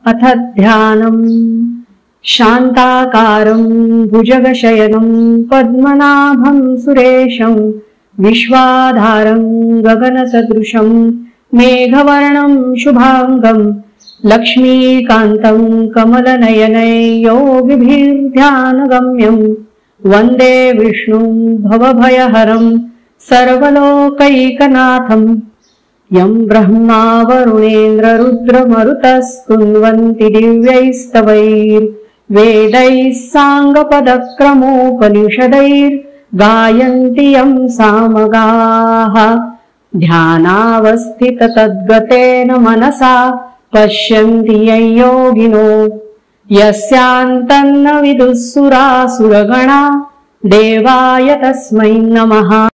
अथ ध्यानम्। शान्ताकारं भुजगशयनं पद्मनाभं सुरेशं विश्वाधारं गगनसदृशं मेघवर्णं शुभांगं लक्ष्मीकान्तं कमलनयनै योगिभिर्ध्यानगम्यं वन्दे विष्णुं भवभयहरं सर्वलोकैकनाथम्। यं ब्रह्मा वरुणेन्द्ररुद्रमरुतस्तुन्वन्ति दिव्यैस्तवैर्वेदैः साङ्गपदक्रमोपनिषदैर्गायन्ति यं सामगाः। ध्यानावस्थिततद्गतेन मनसा पश्यन्ति यं योगिनो यस्यान्तन्न विदुः सुरासुरगणा देवाय तस्मै नमः।